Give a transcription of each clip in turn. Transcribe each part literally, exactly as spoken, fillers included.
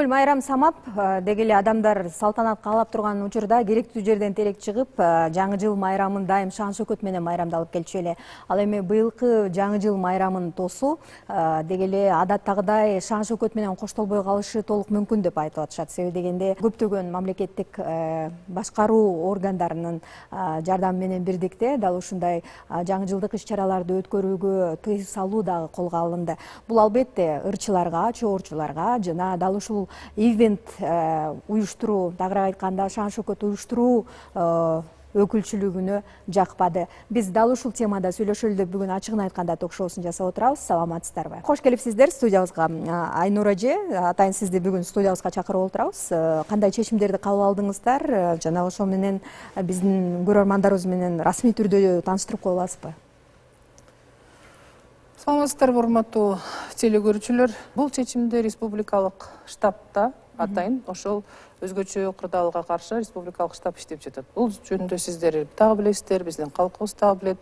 эле майрам самап деги эле адамдар салтанат каалап турган учурда керектүү жерден терек чыгып жаңы жыл майрамын дайым шан шөкөт менен майрамдалып келчү эле. Ал эми быйылкы жаңы жыл майрамын тосу деги эле адаттагыдай шан шөкөт менен коштолбой калышы толук мүмкүн деп айтып атышат. Себеби дегенде көптөгөн мамлекеттик башкаруу органдарынын жардамы менен бирдикте дал ушундай жаңы жылдык иш-чараларды өткөрүүгө тыюу салуу дагы колго алынды. Бул албетте ырчыларга, чоорчуларга жана дал ушул ивент уюштуруу, тагыраак айтканда шан шөкөт уюштуруу өкүлчүлүгүнө жакпады. Биз дал ушул темада сүйлөшөлү деп бүгүн ачыгын айтканда ток-шоусун жасап отурабыз. Саламатсыздарбы? Кош келипсиздер студиябызга. Айнура эже, атайын сизди бүгүн студиябызга чакырып отурабыз. Кандай чечимдерди кабыл алдыңыздар жана ошол менен биздин көрөрмандарыбыз менен расмий түрдө тааныштырып кое аласызбы? Саламатсыздарбы, урматтуу телекөрүүчүлөр. Бул чечимди республикалык штабта атайын ошол өзгөчө кырдаалга каршы республикалык штаб иштеп жатат. Бул жөнүндө сиздер дагы билесиздер, биздин калкыбыз дагы билет.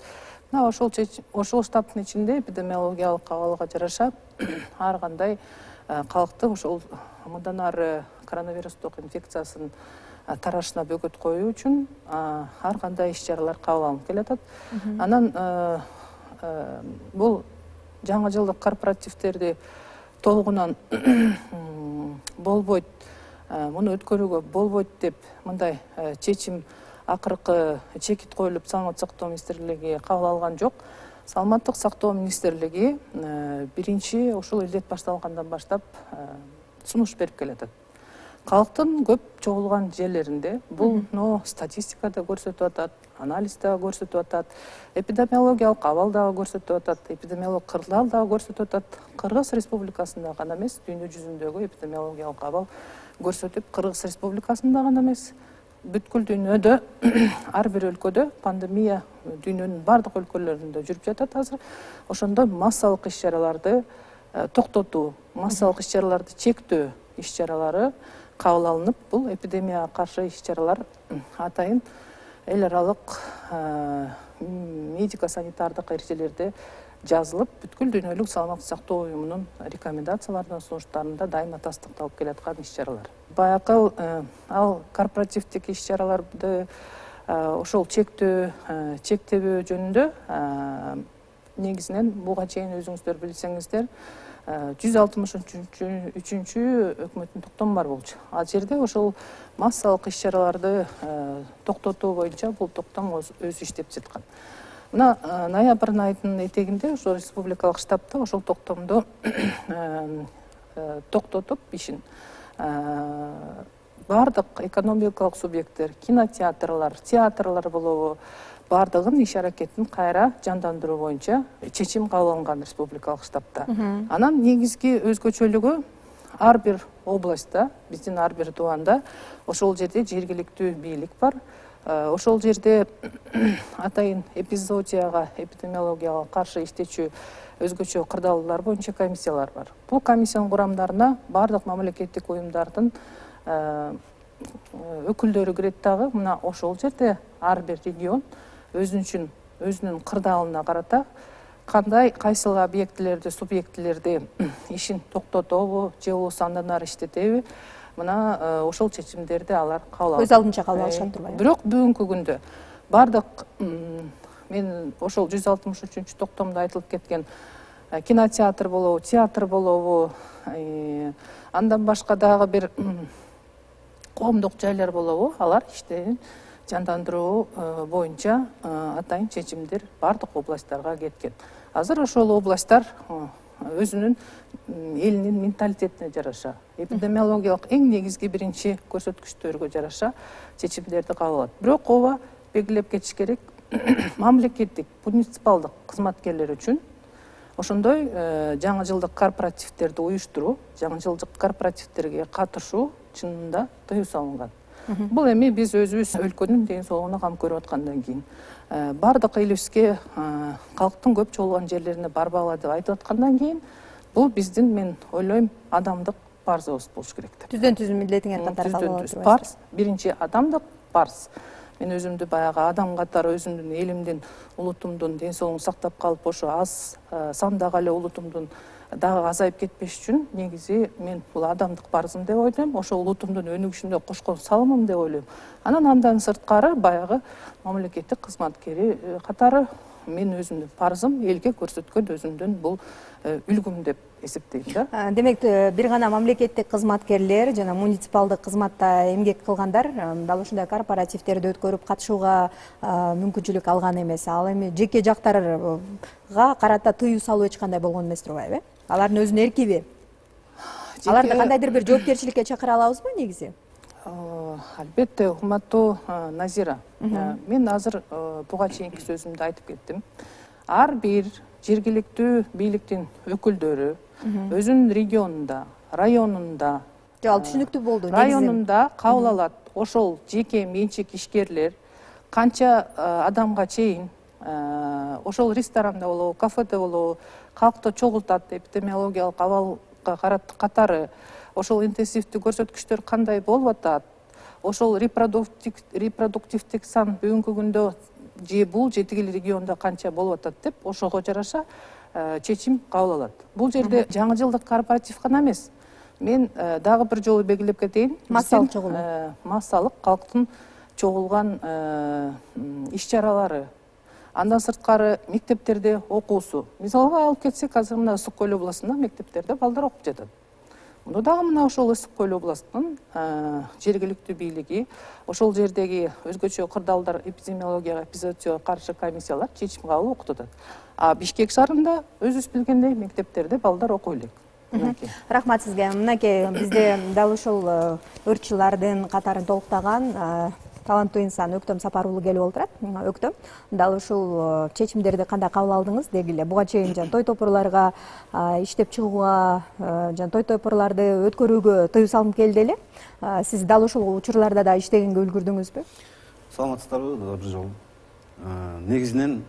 Мына ошол ошол штабтын ичинде эпидемиологиялык абалга жараша ар кандай калкты ошол мындан ары коронавирустук инфекциясынын тарашына бөгөт коюу үчүн ар кандай иш-чаралар кабыл алынып келатат. Анан бул жаңы жылдык корпоративдерди толугунан болбойт, муну өткөрүүгө болбойт деп мындай чечим акыркы чекит коюлуп Саламаттык сактоо министрлиги кабыл алган жок. Саламаттык сактоо министрлиги биринчи ушул илдет башталгандан баштап сунуш берип келатат. Калктын көп чогулган жерлеринде бул статистикада көрсөтүп атат, анализда көрсөтүп атат, эпидемиологиялык абал дагы көрсөтүп атат, эпидемиологиялык кырдаал дагы көрсөтүп атат. Кыргыз Республикасында гана эмес, дүйнө жүзүндөгү эпидемиологиялык абал көрсөтүп, Кыргыз Республикасында гана эмес, бүткүл дүйнөдө ар бир өлкөдө пандемия дүйнөнүн бардык өлкөлөрүндө жүрүп жатат азыр. Ошондо массалык иш-чараларды токтотуу, массалык иш-чараларды чектөө иш-чаралары кабыл алынып, бул эпидемияга каршы иш-чаралар атайын эл аралык медико-санитардык эрежелерде жазылып, бүткүл дүйнөлүк саламаттык сактоо уюмунун рекомендацияларынын сунуштарында дайыма тастыкталып келаткан иш-чаралар. Баягы ал корпоративдик иш-чараларды ошол чектөө, чектебөө жөнүндө негизинен буга чейин өзүңүздөр билсеңиздер жүз алтымыш үчүнчү өкмөттүн токтому бар болчу. Ал жерде ошол массалык иш-чараларды токтотуу боюнча бул токтом өзү иштеп жаткан. Мына ноябрь айынын этегинде ошол республикалык штабта ошол токтомду токтотуп ишин бардык экономикалык субъекттер, кинотеатрлар, театрлар болобу, бардыгын иш-аракетин кайра жандандыруу боюнча чечим кабыл алынган республикалык штабта. Анан негизги өзгөчөлүгү ар бир областта, биздин ар бир дубанда ошол жерде жергиликтүү бийлик бар. Ошол жерде атайын эпизоотияга, эпидемиологияга каршы иштечү өзгөчө кырдаалдар боюнча комиссиялар бар. Бул комиссиянын курамдарына бардык мамлекеттик уюмдардын өкүлдөрү кирет дагы. Мына ошол жерде ар бир регион өзүнчүн өзүнүн кырдаалына карата кандай кайсыл объектилерди, субъектилерди ишин токтотобу же болбосо андан ары иштетеби, мына ошол чечимдерди алар кабыл алат. Өз алдынча кабыл алышат турбайбы? Бирок бүгүнкү күндө бардык мен ошол жүз алтымыш үчүнчү токтомдо айтылып кеткен кинотеатр болобу, театр болобу, андан башка дагы бир коомдук жайлар болобу, алар иштерин жандандыруу боюнча атайын чечимдер бардык областтарга кеткен. Азыр ошол областтар өзүнүн элинин менталитетине жараша, эпидемиологиялык эң негизги биринчи көрсөткүчтөргө жараша чечимдерди кабыл алат. Бирок ооба белгилеп кетиш керек, мамлекеттик, муниципалдык кызматкерлер үчүн ошондой жаңы жылдык корпоративдерди уюштуруу, жаңы жылдык корпоративдерге катышуу чынында тыюу салынган. Бул эми биз өзүбүз өлкөнүн ден соолугуна кам көрүп аткандан кийин, бардык элибизге калктын көп чогулган жерлерине барбагыла деп айтып аткандан кийин, бул биздин, мен ойлойм, адамдык парзыбыз болуш керек деп. Түздөн түз милдетиңер катары кабыл алып турбайсызбы? Парз, биринчи адамдык парз. Мен өзүмдү баягы адам катары өзүмдүн элимдин, улутумдун ден соолугун сактап калып, ошо аз сандагы эле улутумдун дагы азайып кетпеш үчүн негизи мен бул адамдык парызым деп ойлойм, ошол улутумдун өнүгүшүнө кошкон салымым деп ойлойм. Анан андан сырткары баягы мамлекеттик кызматкери катары мен өзүмдүн парызым элге көрсөткөн өзүмдүн бул үлгүм деп эсептейм да. Демек, бир гана мамлекеттик кызматкерлер жана муниципалдык кызматта эмгек кылгандар дал ушундай корпоративдерди өткөрүп катышууга мүмкүнчүлүк алган эмес. Ал эми жеке жактарга карата тыюу салуу эч кандай болгон эмес турбайбы? Алардын өзүнүн эркиби? Аларды кандайдыр бир жоопкерчиликке чакыра алабызбы негизи? Албетте, урматтуу Назира. Мен азыр буга чейинки сөзүмдө айтып кеттим. Ар бир жергиликтүү бийликтин өкүлдөрү өзүнүн регионунда, районунда, ал түшүнүктүү болду. Районунда кабыл алат. Ошол жеке менчик ишкерлер канча адамга чейин ошол ресторанда болобу, кафеде болобу, калкты чогултат, эпидемиологиялык абалга катары ошол интенсивдүү көрсөткүчтөр кандай болуп атат, ошол репродуктивдик сан бүгүнкү күндө же бул же тигил региондо канча болуп атат деп ошого жараша чечим кабыл алат. Бул жерде жаңы жылдык корпоратив гана эмес. Мен дагы бир жолу белгилеп кетейин. Массалык чогулуу. Массалык калктын чогулган иш-чаралары. Андан сырткары мектептерде окуусу. Мисалга алып кетсек, азыр мына Ысык Көл областында мектептерде балдар окуп жатат. Муну дагы мына ошол Ысык Көл областынын жергиликтүү бийлиги, ошол жердеги өзгөчө кырдаалдар эпидемиологияга, эпизоотияга каршы комиссиялар чечим кабыл окутат. А Бишкек шаарында өзүбүз билгендей мектептерде балдар окуй элек. Рахмат сизге. Мынакей бизде дал ушул өртчүлардын катарын толуктаган таланттуу инсан Өктөм Сапар уулу келип олтурат. Өктөм, дал ушул чечимдерди кандай кабыл алдыңыз дегиле? Буга чейин жана той топурларга иштеп чыгууга жана той топурларды өткөрүүгө тыюу салым келди эле. Сиз дал ушул учурларда да иштегенге үлгүрдүңүзбү? Саламатсыздарбы, бир жолу. Негизинен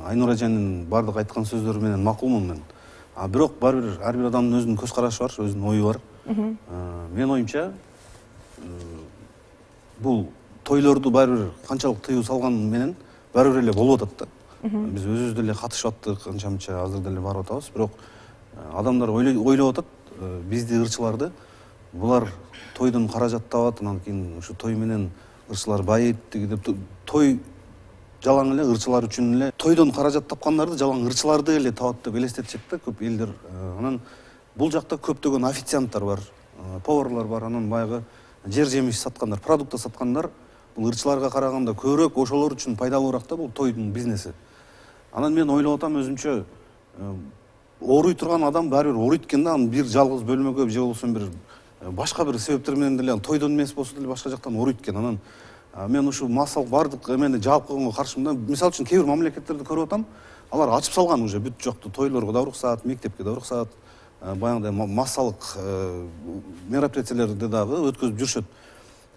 Айнура эженин бардык айткан сөздөрү менен макулмун мен. А бирок баары бир ар бир адамдын өзүнүн көз карашы бар, өзүнүн ою бар. Мен оюмча бул тойлорду баары бир канчалык тыюу салган менен баары бир эле болуп атат да. Биз өзүбүз деле катышып аттык, канча-мынча азыр деле барып атабыз, бирок адамдар ойлоп атат бизди ырчыларды, булар тойдон каражат табат, анан кийин ушу той менен ырчылар байыйт деп той жалаң эле ырчылар үчүн эле тойдон каражат тапкандарды жалаң ырчыларды эле табат деп элестетишет да көп элдер. Анан бул жакта көптөгөн официанттар бар, поварлар бар, анан баягы жер жемиш саткандар, продукты саткандар. Бул ырчыларга караганда көбүрөөк ошолор үчүн пайдалуураак да бул тойдун бизнеси. Анан мен ойлоп атам өзүмчө ооруй турган адам баары бир ооруйт экен да, бир жалгыз бөлмөгө же болбосо бир башка бир себептер менен деле тойдон эмес болсо деле башка жактан ооруйт экен. Анан мен ушул массалык бардык эмени жаап койгонго каршымын да. Мисалы үчүн кээ бир мамлекеттерди көрүп атам, алар ачып салган уже бүт жактуу тойлорго да уруксаат, мектепке да уруксаат, баягындай массалык мероприятиялерди дагы өткөзүп жүрүшөт.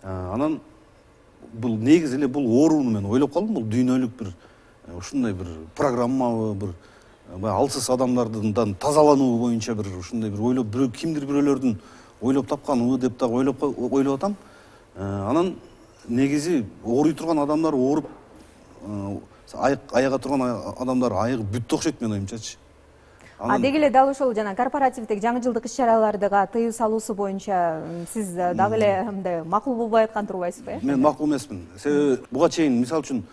Анан бул негизи эле бул оорууну мен ойлоп калдым, бул дүйнөлүк бир ушундай бир программабы, бир баягы алсыз адамдардан тазалануу боюнча бир ушундай бир ойлоп бирөө кимдир бирөөлөрдүн ойлоп тапканыбы деп дагы ойлоп ойлоп атам. Анан негизи ооруй турган адамдар ооруп аяга турган адамдар айыгып бүттү окшойт менин оюмчачы. А деги эле дал ушул жана корпоративдик жаңы жылдык иш-чараларга тыюу салуусу боюнча сиз дагы эле мындай макул болбой аткан турбайсызбы? Мен макул эмесмин. Себеби буга чейин мисалы үчүн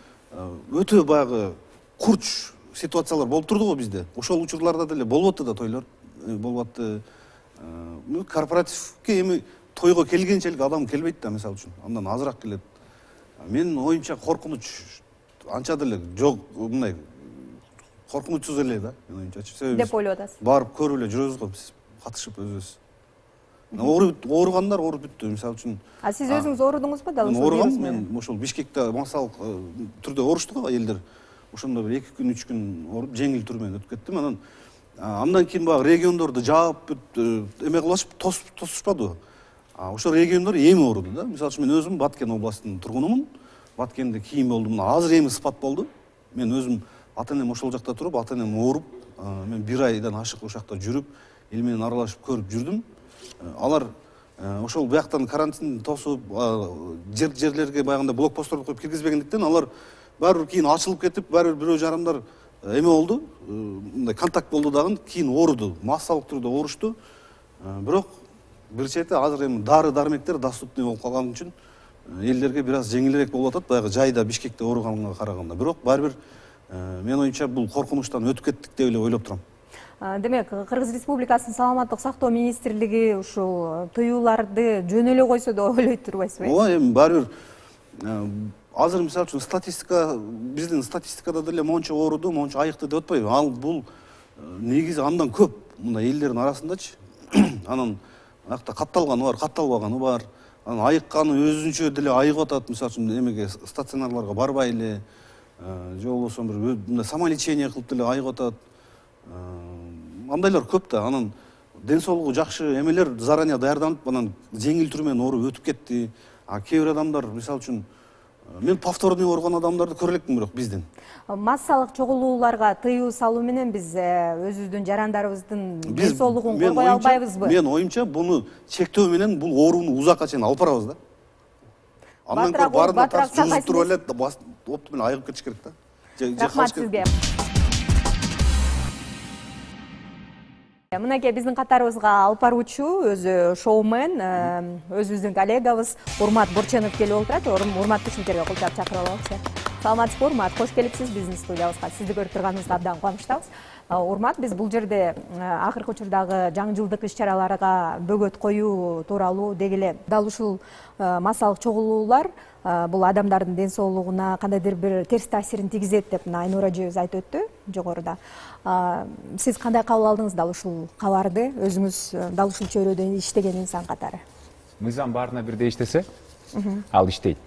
өтө баягы курч ситуациялар болуп турду го бизде. Ошол учурларда деле болуп атты да тойлор, болуп атты. Корпоративге эми тойго келгенчелик адам келбейт да, мисалы үчүн. Андан азыраак келет. Менин оюмча коркунуч анча деле жок, мындай коркунучсуз эле да, менин оюмчачы. Себеби деп ойлоп атасыз. Барып көрүп эле жүрөбүз го биз, катышып өзүбүз. Ооруп ооругандар ооруп бүттү, мисалы үчүн. А сиз өзүңүз оорудуңузбу дал ошол? Ооругам, мен ошол Бишкекте массалык түрдө оорушту го элдер. Ошондо бир эки күн, үч күн ооруп, жеңил түр менен өтүп кеттим. Анан андан кийин баягы региондорду жаап бүт эме кылышып тосушпадыбы? Ошол региондор эми ооруду да. Мисалы үчүн мен өзүм Баткен областынын тургунумун. Баткенде кийин болдум. Азыр эми спад болду. Мен өзүм ата-энем ошол жакта туруп, ата-энем ооруп, мен бир айдан ашык ошакта жүрүп, эл менен аралашып көрүп жүрдүм. Алар ошол бияктан карантин тосуп, жер жерлерге баягындай блокпостторду коюп киргизбегендиктен алар баары бир кийин ачылып кетип, баары бир бирөө жарымдар эме болду, мындай контакт болду дагы, кийин ооруду, массалык түрдө оорушту. Бирок бир чети азыр эми дары дармектер доступный болуп калган үчүн элдерге бир аз жеңилирээк болуп атат, баягы жайда Бишкекте ооруганга караганда. Бирок баары бир менин оюмча бул коркунучтан өтүп кеттик деп эле ойлоп турам. Демек, Кыргыз Республикасынын саламаттык сактоо министрлиги ушул тыюуларды жөн эле койсо деп ойлойт турбайсызбы? Ооба, эми баары бир азыр мисалы үчүн статистика, биздин статистикада деле монча ооруду, монча айыкты деп атпайбы? Ал бул негизи андан көп. Мындай элдердин арасындачы. Анан акта катталганы бар, катталбаганы бар. Анан айыкканы өзүнчө деле айыгып атат. Мисалы үчүн эмеге стационарларга барбай эле, же болбосо бир мындай самолечение кылып деле айыгып атат. Андайлар көп да. Анан ден соолугу жакшы эмелер заранее даярданып, анан жеңил түрү менен ооруп өтүп кетти. А кээ бир адамдар, мисалы үчүн, мен повторный ооруган адамдарды көрө элекмин бирок биздин. Массалык чогулууларга тыюу салуу менен биз өзүбүздүн жарандарыбыздын ден соолугун коргой албайбызбы? Мен оюмча буну чектөө менен бул ооруну узакка чейин алып барабыз да. Андан көрө баарына тартып жугузуп туруп эле опту менен айыгып кетиш керек да. Рахмат сизге. Мынакей биздин катарыбызга алып баруучу өзү шоумен, өзүбүздүн коллегабыз Урмат Борченов келип отурат. Урмат Бишкектерге кулчап чакырып алабыз. Саламатсызбы, Урмат? Кош келипсиз биздин студиябызга. Сизди көрүп турганыбызга абдан кубанычтабыз. Урмат, биз бул жерде акыркы учурдагы жаңы жылдык иш-чараларга бөгөт коюу тууралуу деги эле дал ушул массалык чогулуулар бул адамдардын ден соолугуна кандайдыр бир терс таасирин тийгизет деп мына Айнура эжебиз айтып өттү жогоруда. Сиз кандай кабыл алдыңыз дал ушул кабарды? Өзүңүз дал ушул чөйрөдө иштеген инсан катары. Мыйзам баарына бирдей иштесе, ал иштейт.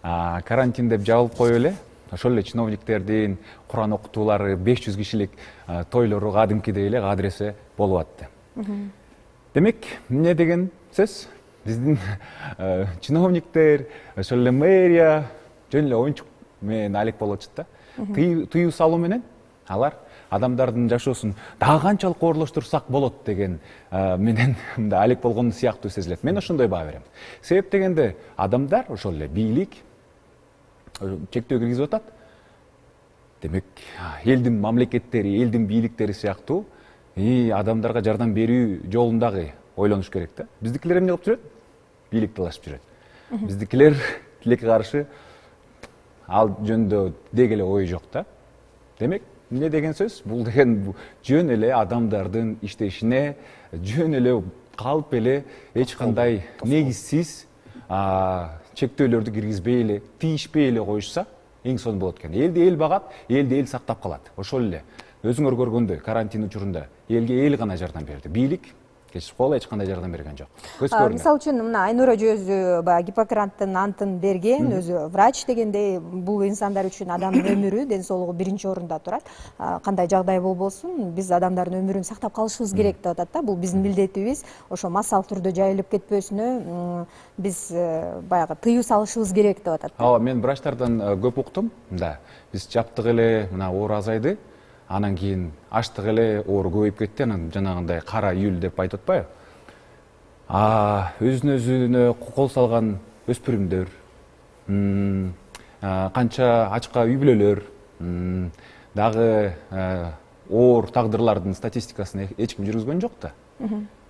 Карантин деп жабылып коюп эле, ошол эле чиновниктердин Куран окутуулары беш жүз кишилик тойлору кадимкидей эле кадыресе болуп атты. Демек, эмне деген сөз? Биздин чиновниктер, ошол эле мэрия жөн эле оюнчук менен алек болуп атышат да. Тыюу салуу менен алар адамдардын жашоосун дагы канчалык оорлоштурсак болот деген менен мындай алек болгон сыяктуу сезилет. Мен ошондой баа берем. Себеп дегенде адамдар ошол эле бийлик чектөө киргизип атат. Демек, элдин мамлекеттери, элдин бийликтери сыяктуу адамдарга жардам берүү жолундагы ойлонуш керек да. Биздикилер эмне кылып жүрөт? Бийлик талашып жүрөт. Биздикилер тилекке каршы ал жөнүндө деги эле ой жок да. Демек, эмне деген сөз? Бул деген жөн эле адамдардын иштешине жөн эле калып эле эч кандай негизсиз чектөөлөрдү киргизбей эле, тийишпей эле коюшса эң сонун болот экен. Элди эл багат, элди эл сактап калат. Ошол эле өзүңөр көргөндөй карантин учурунда элге эл гана жардам берди. Бийлик кечип коелу эч кандай жардам берген жок. Көз көрүнөт. Мисалы үчүн мына Айнура өзү баягы Гиппократтын антын берген, өзү врач дегендей, бул инсандар үчүн адамдын өмүрү, ден соолугу биринчи орунда турат. Кандай жагдай болбосун, биз адамдардын өмүрүн сактап калышыбыз керек деп атат да. Бул биздин милдетибиз. Ошо массалык түрдө жайылып кетпөсүнө биз баягы тыюу салышыбыз керек деп атат. Ооба, мен врачтардан көп уктум. Да, биз жаптык эле мына оору азайды. Анан кийин аштык эле оору көбөйүп кетти, анан жанагындай кара июль деп айтып атпайбы? Өзүнө өзүнө кол салган өспүрүмдөр, канча ачка үй бүлөлөр, дагы оор тагдырлардын статистикасын эч ким жүргүзгөн жок да.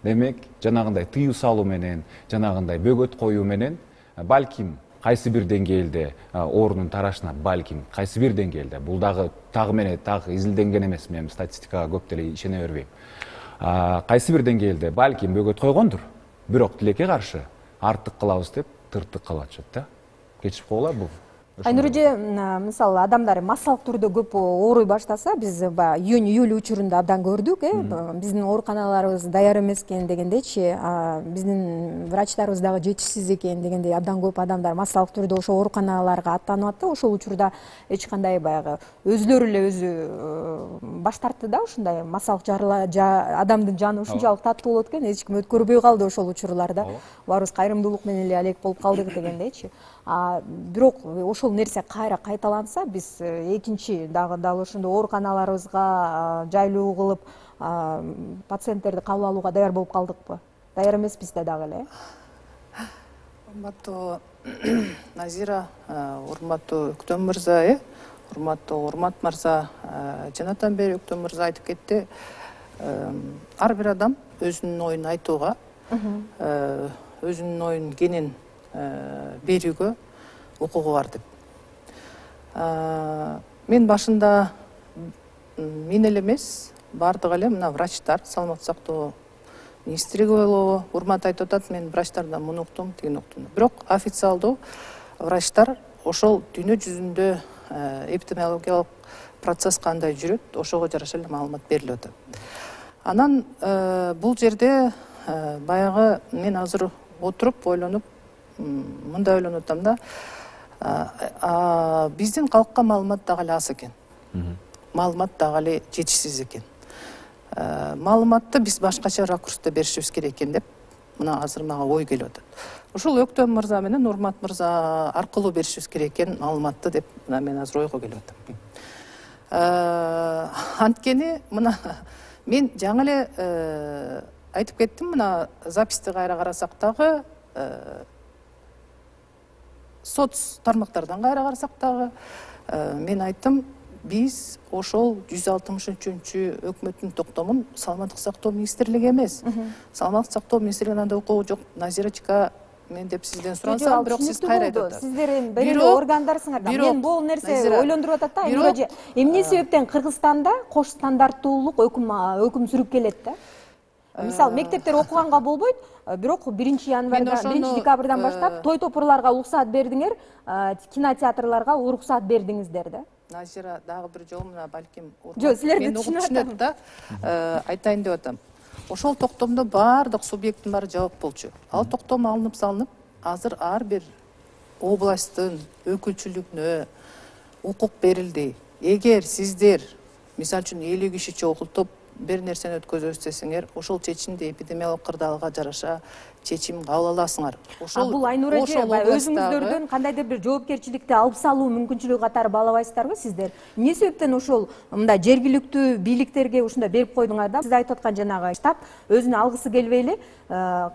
Демек, жанагындай тыюу салуу менен, жанагындай бөгөт коюу менен балким кайсы бир деңгээлде оорунун тарашына балким кайсы бир деңгээлде, бул дагы тагы менен так изилденген эмес, мен статистикага көп деле ишене бербейм. Кайсы бир деңгээлде балким бөгөт койгондур, бирок тилекке каршы артык кылабыз деп тыртык калып атышат да. Кечип коела бул. Айнура эже, мисалы адамдар массалык түрдө көп ооруй баштаса, биз июнь июль учурунда абдан көрдүк, э, биздин ооруканаларыбыз даяр эмес экен дегендейчи, биздин врачтарыбыз дагы жетишсиз экен дегендей абдан көп адамдар массалык түрдө ошо ооруканаларга аттанып атты. Ошол учурда эч кандай баягы өзүлөрү эле өзү баш тартты да, ушундай массалык адамдын жаны ушунчалык таттуу болот экен, эч ким өткөрбөй калды ошол учурларда. Баарыбыз кайрымдуулук менен эле алек болуп калдык дегендейчи. Бирок ошол нерсе кайра кайталанса, биз экинчи дагы дал ошондой ооруканаларыбызга жайлуу кылып пациенттерди кабыл алууга даяр болуп калдыкпы? Даяр эмеспиз да дагы эле. Урматтуу Назира, урматтуу Өктөм мырза, урматтуу Урмат мырза, жанатан бери Өктөм мырза айтып кетти. Ар бир адам өзүнүн оюн айтууга, өзүнүн оюн кенен берүүгө укугу бар деп. Мен башында мен эле эмес, бардык эле мына врачтар, саламаттык сактоо министрлиги болобу, Урмат айтып атат, мен врачтардан муну уктум, тигини уктум. Бирок официалдуу врачтар ошол дүйнө жүзүндө эпидемиологиялык процесс кандай жүрөт, ошого жараша эле маалымат берилип атат. Анан бул жерде баягы мен азыр отуруп ойлонуп мындай ойлонуп атам да, биздин калкка маалымат дагы эле аз экен. Маалымат дагы эле жетишсиз экен. Маалыматты биз башкача ракурста беришибиз керек экен деп мына азыр мага ой келип атат. Ошол Өктөм мырза менен Урмат мырза аркылуу беришибиз керек экен маалыматты деп мына мен азыр ойго келип атам. Анткени мына мен жаңы эле айтып кеттим, мына записти кайра карасак дагы, соц тармактардан кайра карасак дагы мен айттым, биз ошол жүз алтымыш үчүнчү өкмөттүн токтомун саламаттык сактоо министрлиги эмес. Саламаттык сактоо министрлигинин анда укугу жок. Назирочка мен деп сизден сурансам, бирок сиз кайра айтып атасыз. Сиздер эми бир эле органдарсыңар да. Мен бул нерсе ойлондуруп атат да. Айнура, эмне себептен Кыргызстанда кош стандарттуулук өкүм өкүм сүрүп келет да? Мисалы, мектептер окуганга болбойт, бирок биринчи январда, биринчи декабрдан баштап той топурларга уруксат бердиңер, кинотеатрларга уруксат бердиңиздер да. Назира, дагы бир жолу мына балким Жок, силерди түшүнөт да, айтайын деп атам. Ошол токтомдо баардык субъекттин баары жабык болчу. Ал токтом алынып салынып, азыр ар бир областтын өкүлчүлүгүнө укук берилди. Эгер сиздер, мисалы үчүн элүү киши чогултуп бир нерсени өткөзөбүз десеңер, ошол чечимди эпидемиялык кырдаалга жараша чечим кабыл аласыңар. Ошол бул Айнура эже өзүңүздөрдөн кандайдыр бир жоопкерчиликти алып салуу мүмкүнчүлүгү катары баалабайсыздарбы сиздер? Эмне себептен ошол мындай жергиликтүү бийликтерге ушундай берип койдуңар да? Сиз айтып аткан жанагы штаб өзүнө алгысы келбей эле,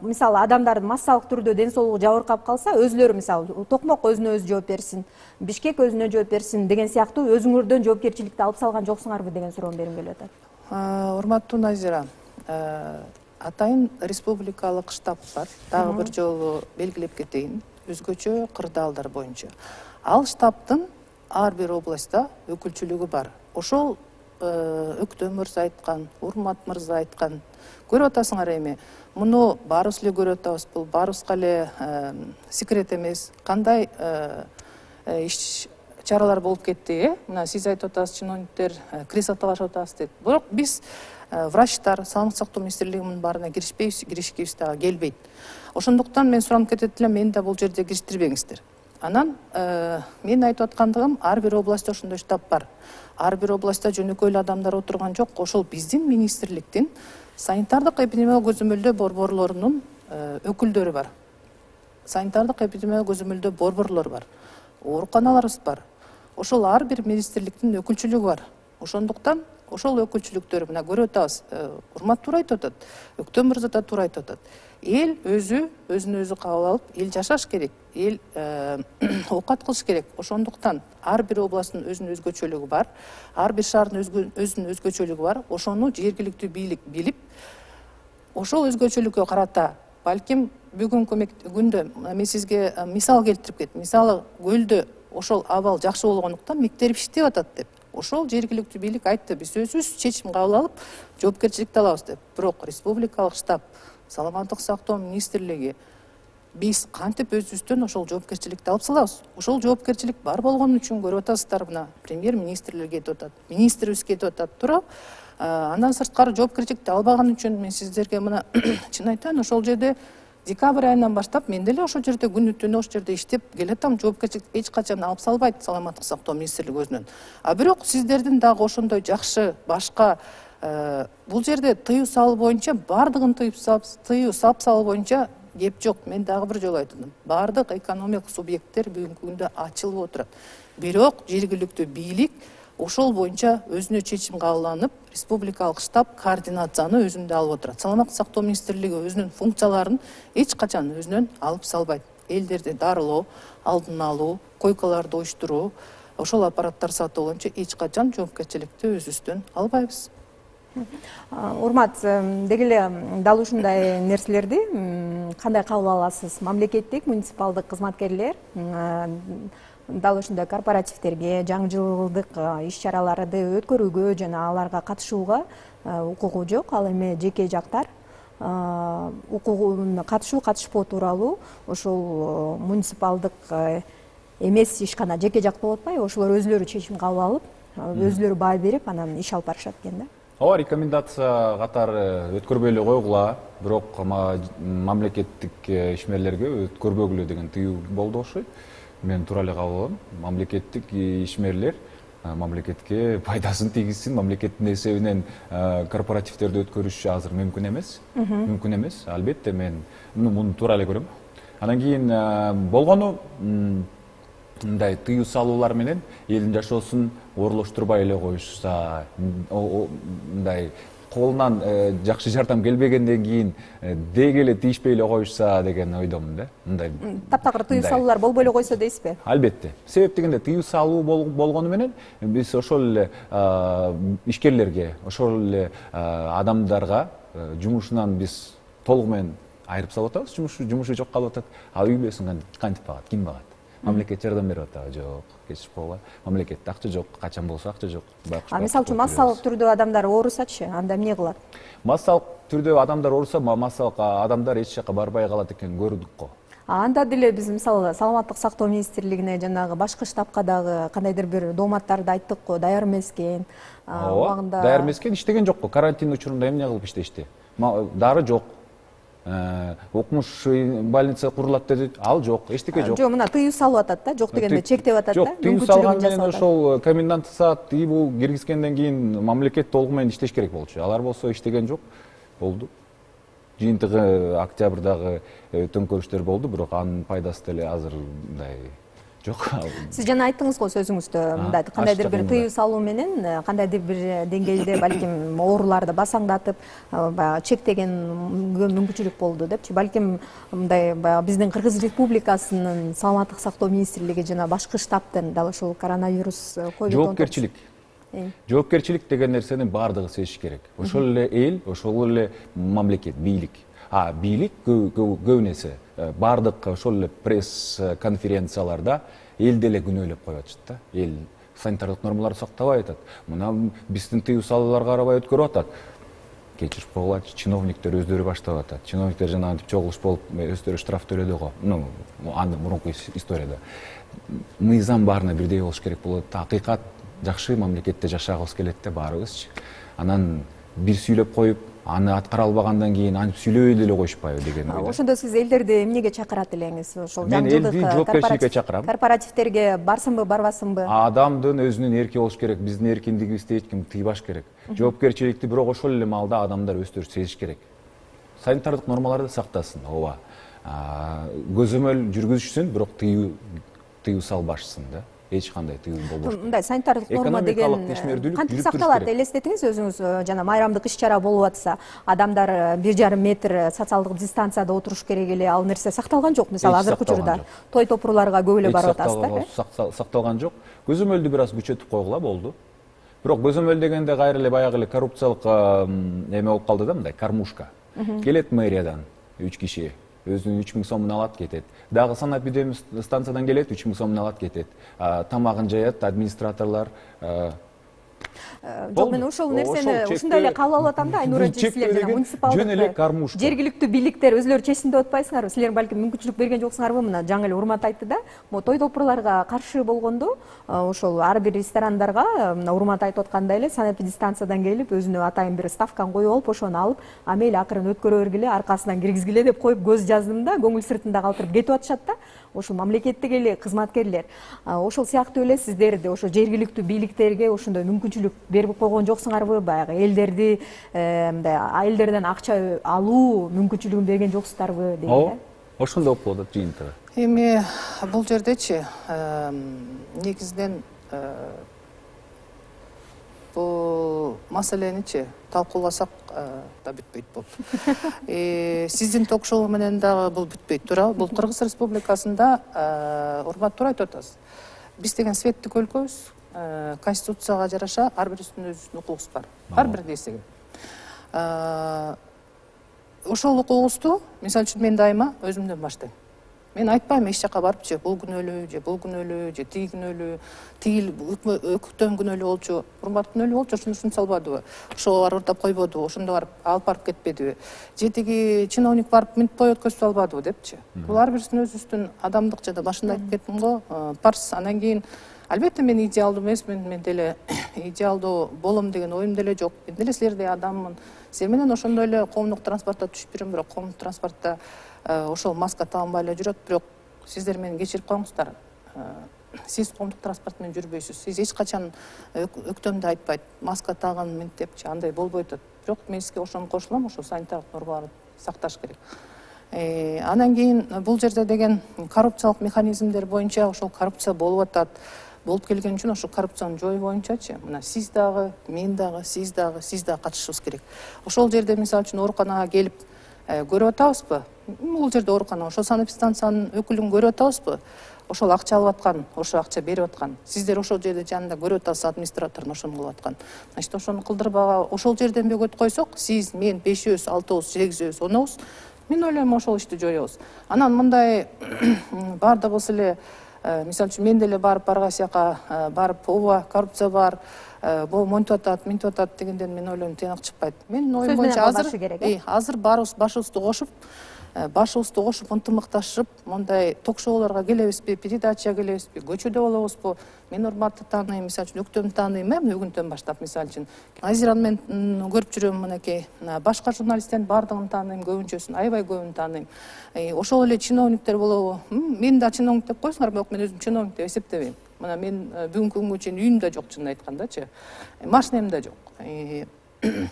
мисалы адамдардын массалык түрдө ден соолугу жабыркап калса, өзүлөрү мисалы Токмок өзүнө өзү жооп берсин, Бишкек өзүнө жооп берсин деген сыяктуу өзүңөрдөн жоопкерчиликти алып салган жоксуңарбы деген суроону бергим келип атат. Урматтуу Назира, атайын республикалык штаб бар. Дагы бир жолу белгилеп кетейин, өзгөчө кырдаалдар боюнча. Ал штабтын ар бир областта өкүлчүлүгү бар. Ошол Өктөм мырза айткан, Урмат мырза айткан, көрүп атасыңар эми. Муну баарыбыз эле көрүп атабыз. Бул баарыбызга эле секрет эмес. Кандай иш чаралар болуп кетти, э? Мына сиз айтып атасыз, чиновниктер кресло талашып атабыз дейт. Бирок биз врачтар, саламаттык сактоо министрлигинин баарына киришпейбиз, киришкибиз дагы келбейт. Ошондуктан мен суранып кетет элем, мени да бул жерде кириштирбеңиздер. Анан мен айтып аткандыгым, ар бир областта ошондой штаб бар. Ар бир областта жөнөкөй эле адамдар отурган жок. Ошол биздин министрликтин санитардык эпидемиологиялык көзөмөлдөө борборлорунун өкүлдөрү бар. Санитардык эпидемиологиялык көзөмөлдөө борборлор бар. Ооруканаларыбыз бар. Ошол ар бир министрликтин өкүлчүлүгү бар. Ошондуктан ошол өкүлчүлүктөр мына көрүп атабыз. Урмат туура айтып атат. Өктөм мырза да туура айтып атат. Эл өзү өзүн өзү кабыл алып, эл жашаш керек, эл оокат кылыш керек. Ошондуктан ар бир областтын өзүнүн өзгөчөлүгү бар, ар бир шаардын өзүнүн өзгөчөлүгү бар. Ошону жергиликтүү бийлик билип, ошол өзгөчөлүккө карата балким бүгүнкү күндө мен сизге мисал келтирип кеттим. Мисалы, көлдө ошол абал жакшы болгондуктан мектеп иштеп атат деп. Ошол жергиликтүү бийлик айтты, биз өзүбүз чечим кабыл алып, жоопкерчиликти алабыз деп. Бирок республикалык штаб, саламаттык сактоо министрлиги биз кантип өзүбүздөн ошол жоопкерчиликти алып салабыз? Ошол жоопкерчилик бар болгон үчүн көрүп атасыздар, мына премьер-министрлер кетип атат, министрибиз кетип атат, туурабы? Андан сырткары жоопкерчиликти албаган үчүн мен сиздерге мына чын айтайын, ошол жерде декабрь айынан баштап мен деле ошол жерде күнү түнү ошол жерде иштеп келатам. Жоопкерчиликти эч качан алып салбайт саламаттык сактоо министрлиги өзүнөн. А бирок сиздердин дагы ошондой жакшы башка бул жерде тыюу салуу боюнча баардыгын тыюп тыюу сап салуу боюнча кеп жок. Мен дагы бир жолу айттым. Баардык экономикалык субъекттер бүгүнкү күндө ачылып отурат. Бирок жергиликтүү бийлик ошол боюнча өзүнө чечим кабыл алынып, республикалык штаб координацияны өзүндө алып отурат. Саламаттык сактоо министрлиги өзүнүн функцияларын эч качан өзүнөн алып салбайт. Элдерди дарылоо, алдын алуу, койкаларды оюштуруу, ошол аппараттар сатуу боюнча эч качан жоопкерчиликти өзүбүздөн албайбыз. Урмат, деги эле дал ушундай нерселерди кандай кабыл аласыз? Мамлекеттик, муниципалдык кызматкерлер дал ушундай корпоративдерге, жаңы жылдык иш-чараларды өткөрүүгө жана аларга катышууга укугу жок. Ал эми жеке жактар укугун катышуу, катышпоо тууралуу ошол муниципалдык эмес ишкана жеке жак болуп атпайбы? Ошолор өзүлөрү чечим кабыл алып, өзүлөрү баа берип, анан иш алып барышат экен да. Ооба, рекомендация катары өткөрбөй эле койгула, бирок мамлекеттик ишмерлерге өткөрбөгүлө деген тыюу болду окшойт. Мен туура эле кабыл алам. Мамлекеттик ишмерлер мамлекетке пайдасын тийгизсин, мамлекеттин эсебинен корпоративдерди өткөрүш азыр мүмкүн эмес. Мүмкүн эмес. Албетте мен муну туура эле көрөм. Анан кийин болгону мындай тыюу салуулар менен элдин жашоосун оорлоштурбай эле коюшса, мындай колунан жакшы жардам келбегенден кийин деги эле тийишпей эле коюшса деген ойдомун да. Мындай таптакыр тыюу салуулар болбой эле койсо дейсизби? Албетте. Себеп дегенде тыюу салуу болгону менен биз ошол эле ишкерлерге, ошол эле адамдарга жумушунан биз толугу менен айырып салып атабыз. Жумушу жумушу жок калып атат. А үй бүлөсүн кантип багат, ким багат? Мамлекет жардам берип атабы? Жок, кечирип койгула. Мамлекетте акча жок, качан болсо акча жок. А мисалы үчүн массалык түрдө адамдар оорусачы, анда эмне кылат? Массалык түрдө адамдар ооруса, массалык адамдар эч жака барбай калат экенин көрдүк го. Анда деле биз мисалы саламаттык сактоо министрлигине жанагы башкы штабка дагы кандайдыр бир дооматтарды айттык го, даяр эмес экен. Ооба, даяр эмес экен, иштеген жок го. Карантин учурунда эмне кылып иштешти? Дары жок. Окумуш больница курулат деди, ал жок, эчтеке жок. Жок, мына тыюу салып атат да, жок дегенде чектеп атат да. Жок, тыюу салган менен ошол коменданттык саат тыюу киргизгенден кийин мамлекет толугу менен иштеш керек болчу. Алар болсо иштеген жок, болду. Жыйынтыгы октябрдагы төңкөрүштөр болду, бирок анын пайдасы деле азыр мындай жок. Сиз жана айттыңыз го сөзүңүздө, мындай кандайдыр бир тыюу салуу менен кандайдыр бир деңгээлде балким ооруларды басаңдатып, баягы чектегенге мүмкүнчүлүк болду депчи. Балким мындай баягы биздин Кыргыз Республикасынын саламаттык сактоо министрлиги жана башкы штабтын дал ушул коронавирус ковид жоопкерчилик. Жоопкерчилик деген нерсени баардыгы сезиш керек. Ошол эле эл, ошол эле мамлекет, бийлик. А бийлик көбүн эсе баардык ошол эле пресс конференцияларда эл деле күнөөлөп коюп атышат да. Эл санитардык нормаларды сактабай атат. Мына биздин тыюу салууларга карабай өткөрүп атат. Кечирип койгула, чиновниктер өздөрү баштап атат. Чиновниктер жана антип чогулуш болуп өздөрү штраф төлөдү го. Ну, андан мурунку историяда. Мыйзам баарына бирдей болуш керек болот. Акыйкат жакшы мамлекетте жашагыбыз келет да баарыбызчы. Анан бир сүйлөп коюп, аны аткара албагандан кийин антип сүйлөбөй деле коюшпайбы деген ойдо. Ошондо сиз элдерди эмнеге чакырат элеңиз? Ошол жаңы жылдык корпоративдерге барсынбы, барбасынбы? Адамдын өзүнүн эрки болуш керек, биздин эркиндигибизди эч ким тыйбаш керек. Жоопкерчиликти бирок ошол эле маалда адамдар өздөрү сезиш керек. Санитардык нормаларды сактасын, ооба. Көзөмөл жүргүзүшсүн, бирок тыюу тыюу салбашсын да. Эч кандай тыюу болбош. Мындай санитардык норма деген кантип сакталат? Элестетиңиз өзүңүз, жана майрамдык иш-чара болуп атса, адамдар бир жарым метр социалдык дистанцияда отуруш керек эле, ал нерсе сакталган жок. Мисалы азыркы учурда той топурларга көп эле барып атасыздар. Сакталган жок. Көзөмөлдү бир аз күчөтүп койгула болду. Бирок көзөмөл дегенде кайра эле баягы эле коррупциялык эме болуп калды да, мындай кормушка. Келет мэриядан үч киши, өзүнүн үч миң сомун алат, кетет. Дагы санап станциядан келет, үч миң сомун алат, кетет. Тамагын жаят администраторлор. Жок, мен ошол нерсени ушундай эле кабыл алып атам да, Айнура эже, силер жана муниципалдык жөн эле кармушка. Жергиликтүү бийликтер өзүлөрү чечсин деп атпайсыңарбы? Силер балким мүмкүнчүлүк берген жоксуңарбы? Мына жаңы эле Урмат айтты да, могу той топурларга каршы болгондо, ошол ар бир ресторандарга Урмат айтып аткандай эле санэпидстанциядан келип, өзүнө атайын бир ставканы коюп алып, ошону алып, ама эле акырын өткөрө бергиле, аркасынан киргизгиле деп коюп көз жаздым да, көңүл сыртында калтырып кетип атышат да. Ошол мамлекеттик эле кызматкерлер. Ошол сыяктуу эле сиздерди ошо жергиликтүү бийликтерге ошондой мүмкүнчүлүк берип койгон жоксуңарбы? Баягы элдерди мындай элдерден акча алуу мүмкүнчүлүгүн берген жоксуздарбы дейм да. Ошондой болуп калат жыйынтыгы. Эми бул жердечи негизинен бул маселеничи талкууласак да бүтпөйт болуп. Сиздин ток-шоу менен дагы бул бүтпөйт, туура? Бул Кыргыз Республикасында Урмат туура айтып атасыз. биз деген светтик өлкөбүз, конституцияга жараша ар бирибиздин өзүбүздүн укугубуз бар, ар бир нерсеге. Ошол укугубузду мисалы үчүн мен дайыма өзүмдөн баштайм. Мен айтпайм эч жака барыпчы бул күнөөлүү же бул күнөөлүү же тиги күнөөлүү, тигил өктөм күнөөлүү болчу, урмат күнөөлүү болчу, ошонусун салбадыбы, ошого барып урдап койбодубу, ошондо барып алып барып кетпедиби, же тиги чиновник барып мынтип той өткөзүп албадыбы депчи. Бул ар бирибиздин өзүбүздүн адамдык, жана башында айтып кеттим го, парс. Анан кийин албетте мен идеалдуу эмесмин, мен деле идеалдуу болом деген оюм деле жок. Мен деле силердей адаммын. Силер менен ошондой эле коомдук транспортто түшүп жүрөм, бирок коомдук транспортто ошол маска тагынбай эле жүрөт, бирок сиздер мени кечирип коюңуздар. Сиз коомдук транспорт менен жүрбөйсүз. Сиз эч качан өктөмдү айтпайт, маска тагын мынтип депчи, андай болбойт атат. Бирок мен сизге ошону кошулам, ошол санитардык нормаларды сакташ керек. Анан кийин бул жерде деген коррупциялык механизмдер боюнча ошол коррупция болуп атат. Болуп келген үчүн ошол коррупцияны жою боюнчачы, мына сиз дагы, мен дагы, сиз дагы, сиз дагы катышышыбыз керек. Ошол жерде мисалы үчүн ооруканага келип көрүп атабызбы? Бул жерде оорукана, ошол санэпидстанциянын өкүлүн көрүп атабызбы? Ошол акча алып аткан, ошо акча берип аткан. Сиздер ошол жерде жанында көрүп атасыз, администраторун ошону кылып аткан. Значит, ошону кылдырбага ошол жерден бөгөт койсок, сиз, мен, бешөөбүз, алтыбыз, сегизибиз, онобуз, мен ойлойм ошол ишти жоебуз. Анан мындай баардыгыбыз эле, мисалы үчүн мен деле барып баргай сияка барып, ооба, коррупция бар, бул монтип атат, мынтип атат дегенден мен ойлойм тыйнак чыкпайт. Менин оюм боюнча азыр азыр баарыбыз башыбызды кошуп, башыбызды кошуп ынтымакташып, мындай ток-шоуларга келебизби, передача келебизби, көчөдө болобузбу? Мен урматты тааныйм, мисалы үчүн өктөмдү тааныйм, эмне бүгүндөн баштап мисалы үчүн Назираны мен көрүп жүрөм, мынакей башка журналисттердин баардыгын тааныйм, көбүнчөсүн, аябай көбүн тааныйм. Ошол эле чиновниктер болобу? Мен да чиновник деп койсуңар, бирок мен өзүм чиновник деп эсептебейм. Мына мен бүгүнкү күнгө чейин үйүм да жок, чынын айткандачы, машинем да жок.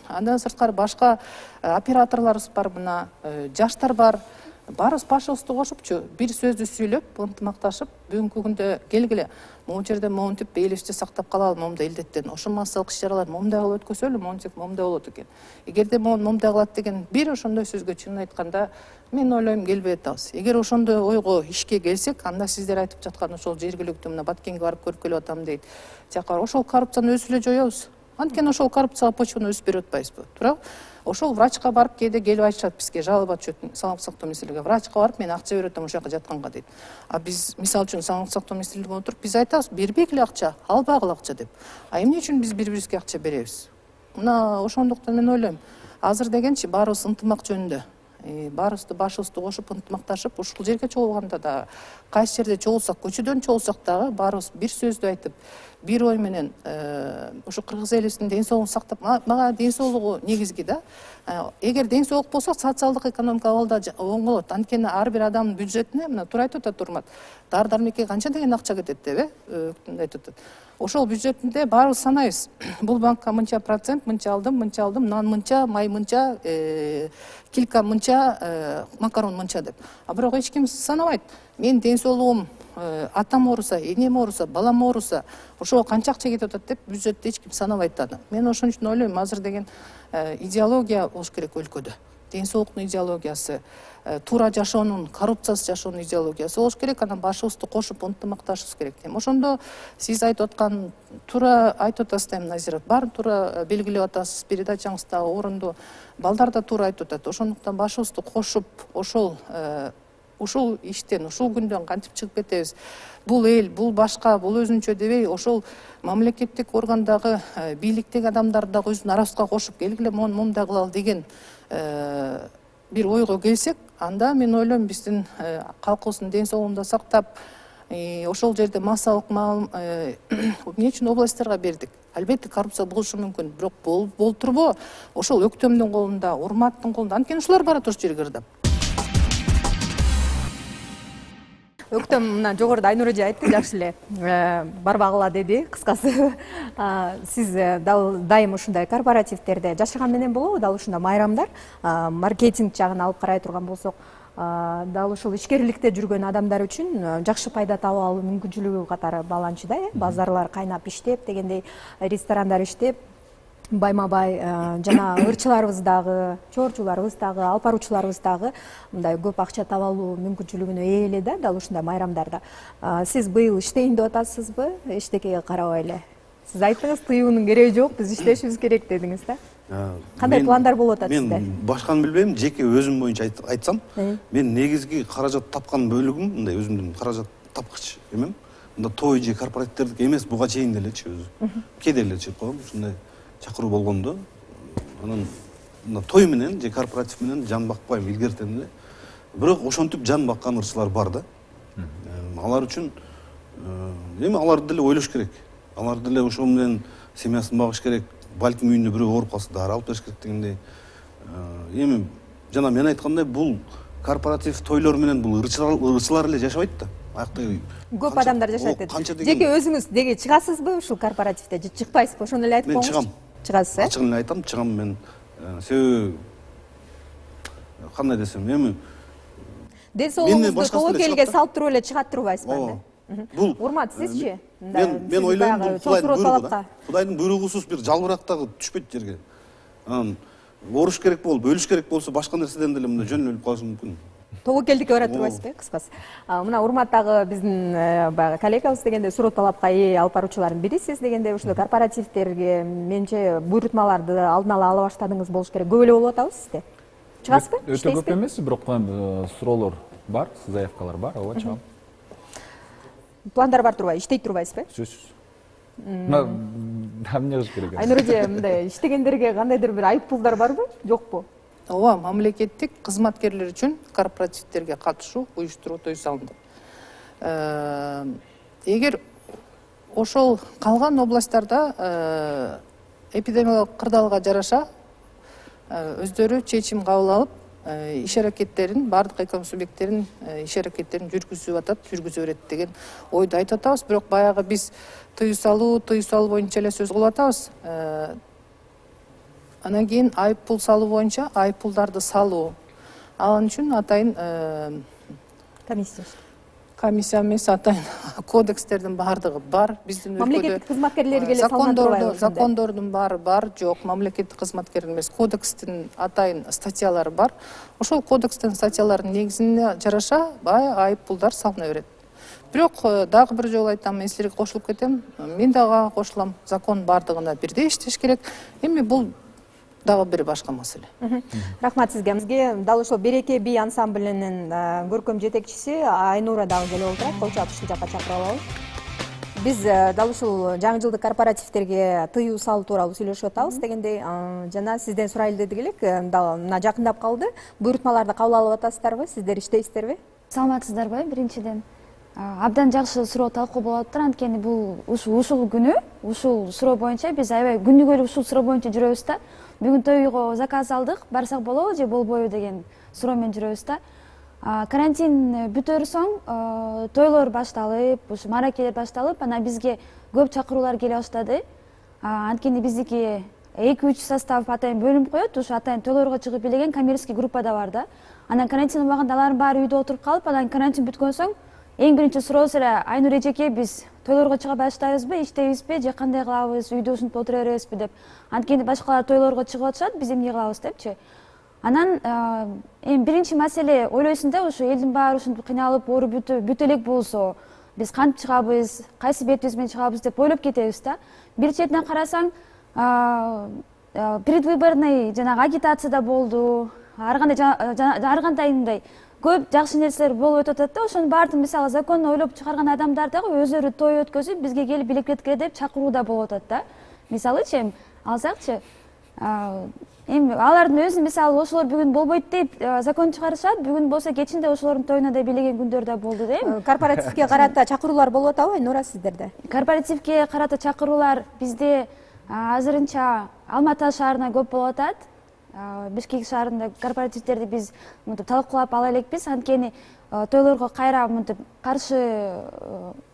Андан сырткары башка операторлорубуз бар, мына жаштар бар. Баарыбыз башыбызды кошупчу, бир сөздү сүйлөп, ынтымакташып, бүгүнкү күндө келгиле, могу жерде монтип, элибизди сактап калалы, момундай илдеттен, ошо массалык иш-чараларды момундай кылып өткөзөлү, монтип, момундай болот экен. Эгерде могу момундай кылат деген бир ошондой сөзгө чынын айтканда, мен ойлойм келбей атабыз. Эгер ошондой ойго, ишке келсек, анда сиздер айтып жаткан ошол жергиликтүү мына Баткенге барып көрүп келип атам дейт. Тияка ошол коррупцияны өзү эле жоебуз. Анткени ошол коррупцияга почваны өзү берип атпайбызбы, туурабы? Ошол врачка барып кээде келип айтышат бизге, жалоба түшөт саламаттык сактоо министрлигине. Врачка барып мен акча берип атам ошол жака жатканга дейт. А биз мисалы үчүн саламаттык сактоо министрлигине отуруп биз айтабыз, бербегиле акча, албагыла акча деп. А эмне үчүн биз бири-бирибизге акча беребиз? Мына ошондуктан мен ойлойм, азыр дегенчи баарыбыз ынтымак жөнүндө, баарыбызды башыбызды кошуп ынтымакташып, ушул жерге чогулганда да, кайсы жерде чогулсак, көчөдөн чогулсак дагы баарыбыз бир сөздү айтып, бир ой менен ушу кыргыз элибиздин ден соолугун сактап, мага ден соолугу негизги да. Эгер ден соолук болсо, социалдык экономикалык абал да оң болот. Анткени ар бир адамдын бюджетине, мына туура айтып атат Урмат, дары дармекке канча деген акча кетет деп, э, айтып атат. Ошол бюджетинде баарыбыз санайбыз. Бул банкка мынча процент, мынча алдым, мынча алдым, нан мынча, май мынча, килка мынча, макарон мынча деп. А бирок эч ким санабайт. Мен ден соолугум, атам ооруса, энем ооруса, балам ооруса, ошого канча акча кетип атат деп бюджетти эч ким санабайт аны. Мен ошон үчүн ойлойм, азыр деген идеология болуш керек өлкөдө. Ден соолуктун идеологиясы, туура жашоонун, коррупциясыз жашоонун идеологиясы болуш керек. Анан башыбызды кошуп ынтымакташыбыз керек. Ошондо сиз айтып аткан туура айтып атасыз да, Назира, баарын туура белгилеп атасыз, передачаңыз да орунду, балдар да туура айтып атат. Ошондуктан башыбызды кошуп, ошол ушул иштен, ушул күндөн кантип чыгып кетебиз? Бул эл, бул башка, бул өзүнчө дебей, ошол мамлекеттик органдагы, бийликтеги адамдарды дагы өзүбүздүн арабызга кошуп, келгиле мону момундай кылалы деген бир ойго келсек, анда мен ойлойм биздин калкыбыздын ден соолугун да сактап, ошол жерде массалык эмне үчүн областьтарга бердик? Албетте коррупция болушу мүмкүн, бирок болуп турбу? Ошол өктөмдүн колунда, Урматтын колунда. Анткени ушулар барат ошол жерге ырдап. Өктөм мына жогоруда Айнур эже айтты, жакшы эле барбагыла деди, кыскасы. Сиз дал дайым ушундай корпоративдерде жашаган менен болобу? Дал ушундай майрамдар, маркетинг жагын алып карай турган болсок, дал ушул ишкерликте жүргөн адамдар үчүн жакшы пайда таап алуу мүмкүнчүлүгү катары бааланчу да, э? Базарлар кайнап иштеп, дегендей ресторандар иштеп, байма бай жана ырчыларыбыз дагы, чоорчуларыбыз дагы, алып баруучуларыбыз дагы мындай көп акча таба алуу мүмкүнчүлүгүнө ээ эле да, дал ушундай майрамдарда. Сиз быйыл иштейин деп атасызбы? Эчтекеге карабай эле. Сиз айттыңыз, тыюунун кереги жок, биз иштешибиз керек дедиңиз да. Кандай пландар болуп атат сизде? Мен башканы билбейм, жеке өзүм боюнча айтсам, мен негизги каражат тапкан бөлүгүм мындай өзүмдүн каражат тапкыч эмем. Мында той же корпоративдердики эмес, буга чейин делечи өзү. Кээде эле чыгып койгом, ушундай чакыруу болгондо, анан мына той менен же корпоратив менен жан бакпайм, илгертем эле. Бирок ошентип жан баккан ырчылар бар да. Алар үчүн эми аларды деле ойлош керек. Алар деле ошол менен семьясын багыш керек. Балким үйүндө бирөө ооруп калса дары алып бериш керек дегендей. Эми жана мен айткандай, бул корпоратив тойлор менен бул ырчылар эле жашабайт да. Аяктагы көп адамдар жашайт деди. Жеке өзүңүз деги чыгасызбы ушул корпоративде же чыкпайсызбы? Ошону эле айтып коюңузчу. Мен чыгам. Чыгасыз, э? Ачыгын эле айтам, чыгам мен. Себеби кандай десем, эми ден соолугуңузду тобокелге салыптырып эле чыгат турбайсызбы? Бул урмат, сизчи? Мен мен ойлойм, бул Кудайдын буйругу да. Кудайдын буйругусуз бир жалбырактагы түшпөйт жерге. Анан ооруш керек болуп, өлүш керек болсо башка нерседен деле мындай жөн өлүп калышы мүмкүн. Тобокелдикке барат турбайсызбы, кыскасы? Мына урматтагы биздин баягы коллегабыз дегенде суроо талапка ээ алып баруучулардын бирисиз дегенде ушул корпоративдерге менче буйрутмаларды алдын ала ала баштадыңыз болуш керек. Көп эле болуп атабы сизде? Чыгасызбы? Өтө көп эмес, бирок суроолор бар, заявкалар бар, ооба чыгам. Пландар бар турбайбы? Иштей турбайсызбы? Сөзсүз. Мына эмне кылыш керек? Айнур эже, мындай иштегендерге кандайдыр бир айып пулдар барбы, жокпу? Ооба, мамлекеттик кызматкерлер үчүн корпоративдерге катышуу, уюштуруу той салынды. Эгер ошол калган областтарда эпидемиологиялык кырдаалга жараша өздөрү чечим кабыл алып, иш аракеттерин, бардык экономик субъекттерин иш аракеттерин жүргүзүп атат, жүргүзө берет деген ойду айтып атабыз. Бирок баягы биз тыюу салуу, тыюу салуу боюнча эле сөз кылып атабыз. Анан кийин айып пул салуу боюнча айып пулдарды салуу. Ал үчүн атайын комиссия. Комиссия эмес, атайын кодекстердин бардыгы бар. Биздин өлкөдө мамлекеттик кызматкерлерге эле салынат турбайбы? Закондордун баары бар, жок. Мамлекеттик кызматкер эмес, кодекстин атайын статьялары бар. Ошол кодекстин статьяларынын негизине жараша бай айып пулдар салына берет. Бирок дагы бир жолу айтам, мен силерге кошулуп кетем. Мен дагы кошулам. Закон бардыгына бирдей иштеш керек. Эми бул дагы бир башка маселе. Рахмат сизге. Бизге дал ошол Береке би ансамблинин көркөм жетекчиси Айнура дагы келип отурат. Кол чаап ушул жакка чакырып алалы. Биз дал ушул жаңы жылдык корпоративдерге тыюу салуу тууралуу сүйлөшүп атабыз дегендей, жана сизден сурайлы дедик элек, дал мына жакындап калды. Буйрутмаларды кабыл алып атасыздарбы? Сиздер иштейсиздерби? Саламатсыздарбы? Биринчиден абдан жакшы суроо талкуу болуп атат. Анткени бул ушул күнү, ушул суроо боюнча биз аябай күнүгө ушул суроо боюнча жүрөбүз да. Бүгүн тойго заказ алдык, барсак болобу же болбойбу деген суроо менен жүрөбүз да. Карантин бүтөр соң тойлор башталып, ушу мааракелер башталып, анан бизге көп чакыруулар келе баштады. Анткени биздики эки үч состав атайын бөлүнүп коет, ушу атайын тойлорго чыгып билеген коммерческий группа да бар да. Анан карантин убагында алардын баары үйдө отуруп калып, анан карантин бүткөн соң эң биринчи сурообуз эле Айнур эжеке, биз тойлорго чыга баштайбызбы, иштейбизби же кандай кылабыз, үйдө ушинтип отура беребизби деп. Анткени башкалар тойлорго чыгып атышат, биз эмне кылабыз депчи. Анан эми биринчи маселе ойлойсуң да, ушу элдин баары ушинтип кыйналып, оору бүтө элек болсо, биз кантип чыгабыз, кайсы бетибиз менен чыгабыз деп ойлоп кетебиз да. Бир четинен карасаң, предвыборный жанагы агитация да болду, ар кандай ар кандай мындай көп жакшы нерселер болуп өтүп атат да. Ошонун баардыгын мисалы законно ойлоп чыгарган адамдар дагы өздөрү той өткөзүп, бизге келип билеклеткиле деп чакыруу да болуп атат да. Мисалычы эми алсакчы, эми алардын өзү мисалы ошолор бүгүн болбойт деп закон чыгарышат, бүгүн болсо кечинде ошолордун тоюна да билеген күндөр да болду да эми. Корпоративге карата чакыруулар болуп атабы Айнура сиздерде? Корпоративге карата чакыруулар бизде азырынча Алматы шаарына көп болуп атат. Бишкек шаарында корпоративдерди биз мынтип талкуулап ала элекпиз, анткени тойлорго кайра мынтип каршы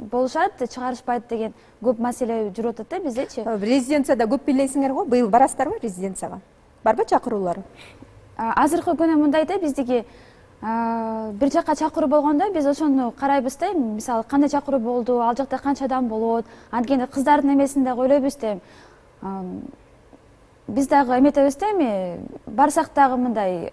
болушат, чыгарышпайт деген көп маселе жүрүп атат да биздечи. Резиденцияда көп бийлейсиңер го, быйыл барасыздарбы резиденцияга? Барбы чакыруулар? Азыркы күнү мындай да, биздики бир жакка чакыруу болгондо биз ошону карайбыз да, мисалы кандай чакыруу болду, ал жакта канча адам болот, анткени кыздардын эмесин дагы ойлойбуз да. биз дагы эметебиз да, эми барсак дагы мындай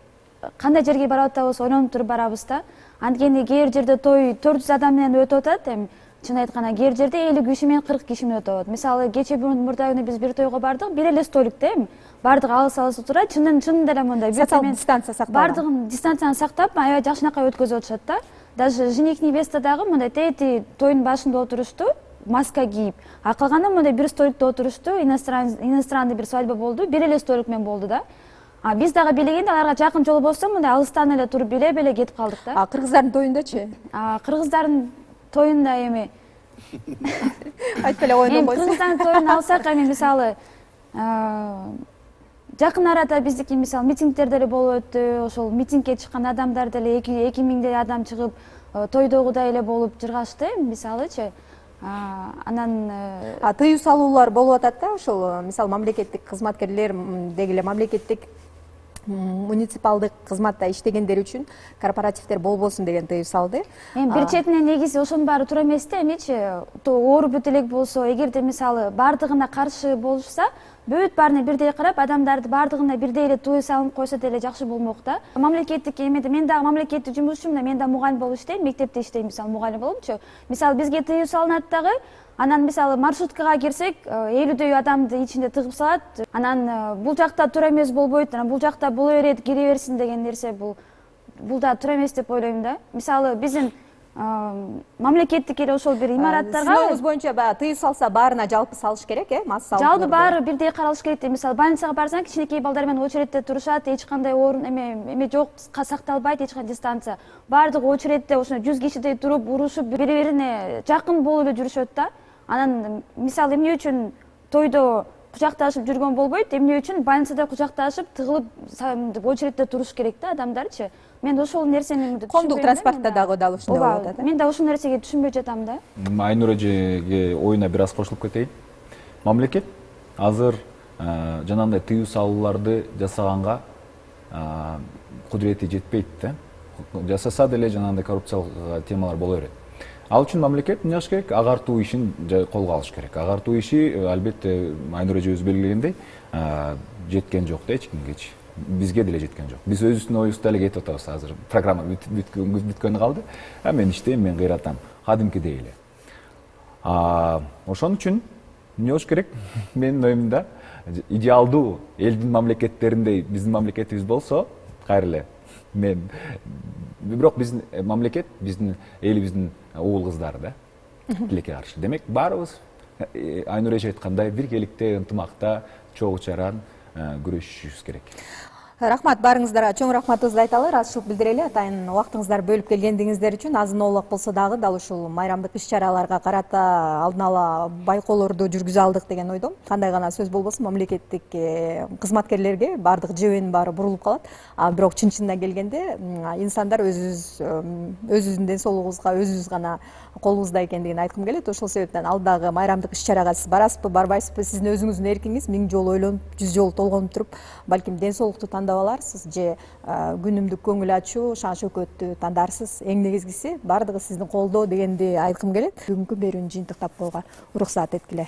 кандай жерге барып атабыз ойлонуп туруп барабыз да. Анткени кээ бир жерде той төрт жүз адам менен өтүп атат, эми чын айтканда кээ бир жерде элүү киши менен кырк киши менен өтүп атат. Мисалы кече мурда күнү биз бир тойго бардык, бир эле столик да, эми бардыгы алыс алыс отура, чынын чынында эле мындай социалдык дистанция сакталган. Бардыгын дистанцияны сактап, аябай жакшынакай өткөзүп атышат да. Даже жених невеста дагы мындай тети тойдун башында отурушту, маска кийип, а калганы мындай бир столикте отурушту. Иностранный бир свадьба болду, бир эле столик менен болду да. А биз дагы билегенде аларга жакын жол болсо мындай алыстан эле туруп биле-биле кетип калдык да. А кыргыздардын тоюндачы? А кыргыздардын тоюнда эми айтпай эле койдум. Эми кыргыздардын тоюн алсак, эми мисалы жакын арада биздики мисалы митингдер деле болуп өттү. Ошол митингге чыккан адамдар деле эки миңдей адам чыгып тойдогудай эле болуп жыргашты, мисалычы. Анан тыюу салуулар болуп атат да, ошол мисалы мамлекеттик кызматкерлер деги эле мамлекеттик муниципалдык кызматта иштегендер үчүн корпоративдер болбосун деген тыюу салды. Эми бир четинен негизи ошонун баары туура эмес да, эмичи оору бүт элек болсо, эгерде мисалы баардыгына каршы болушса, бүт баарына бирдей карап, адамдарды баардыгына бирдей эле тыюу салынып койсо деле жакшы болмок да. Мамлекеттик эмеде мен дагы мамлекеттик жумушчумун, мен да мугалим болуп иштейм, мектепте иштейм, мисалы мугалим болупчу. Мисалы бизге тыюу салынат дагы, анан мисалы маршруткага кирсек, элүүдөй адамды ичинде тыгып салат. Анан бул жакта туура эмес болбойт, анан бул жакта боло берет, кире берсин деген нерсе бул бул да туура эмес деп ойлойм да. Мисалы биздин мамлекеттик эле ошол бир имараттарга сиздин оюңуз боюнча баягы тыюу салса баарына жалпы салыш керек, э? Масса салып. Жалпы баары бирдей каралыш керек деп. Мисалы больницага барсаң, кичинекей балдар менен очередте турушат, эч кандай орун эме эме жок, сакталбайт эч кандай дистанция. Баардыгы очередте ошондой жүз кишидей туруп, урушуп, бири-бирине жакын болуп эле жүрүшөт да. Анан мисалы эмне үчүн тойдо кучакташып жүргөн болбойт, эмне үчүн больницада кучакташып, тыгылып очередте туруш керек да адамдарчы. Мен ошол нерсени түшүнбөйм. Коомдук транспортто дагы дал ушундай болуп атат. Мен да ошол нерсеге түшүнбөй жатам да. Айнура эжеге оюна бир аз кошулуп кетейин. Мамлекет азыр жанагындай тыюу салууларды жасаганга кудурети жетпейт да. Жасаса деле жанагындай коррупциялык темалар боло берет. Ал үчүн мамлекет эмне кылыш керек? Агартуу ишин колго алыш керек. Агартуу иши албетте Айнура эжебиз белгилегендей жеткен жок да эч кимгечи. Бизге деле жеткен жок. Биз өзүбүздүн оюбузда эле кетип атабыз азыр. Программа бүткөнү калды. А мен иштейм, мен кыйратам. Кадимкидей эле. А ошон үчүн эмне болуш керек? Менин оюмда идеалдуу элдин мамлекеттериндей биздин мамлекетибиз болсо, кайра эле мен бирок биздин мамлекет биздин элибиздин уул кыздары да. Тилекке каршы. Демек баарыбыз Айнура эже айткандай биргеликте, ынтымакта, чогуу чаран күрөшүшүбүз керек. Рахмат, баарыңыздарга чоң рахматыбызды айталы, ыраазычылык билдирели. Атайын убактыңыздар бөлүп келгендигиңиздер үчүн. Азын-оолак болсо дагы дал ушул майрамдык иш-чараларга карата алдын ала байкоолорду жүргүзө алдык деген ойдомун. Кандай гана сөз болбосун, мамлекеттик кызматкерлерге баардык жебенин баары бурулуп калат. А бирок чын-чынына келгенде инсандар өзүбүз өзүбүздүн ден соолугубузга өзүбүз гана колубузда экендигин айткым келет. Ошол себептен алдагы майрамдык иш-чарага сиз барасызбы, барбайсызбы, сиздин өзүңүздүн эркиңиз. Миң жолу ойлонуп, жүз жолу толгонуп туруп, балким ден соолукту тандап аларсыз же күнүмдүк көңүл ачуу, шан шөкөттү тандарсыз. Эң негизгиси баардыгы сиздин колдо дегенди айткым келет. Бүгүнкү берүүнү жыйынтыктап коюуга уруксаат эткиле.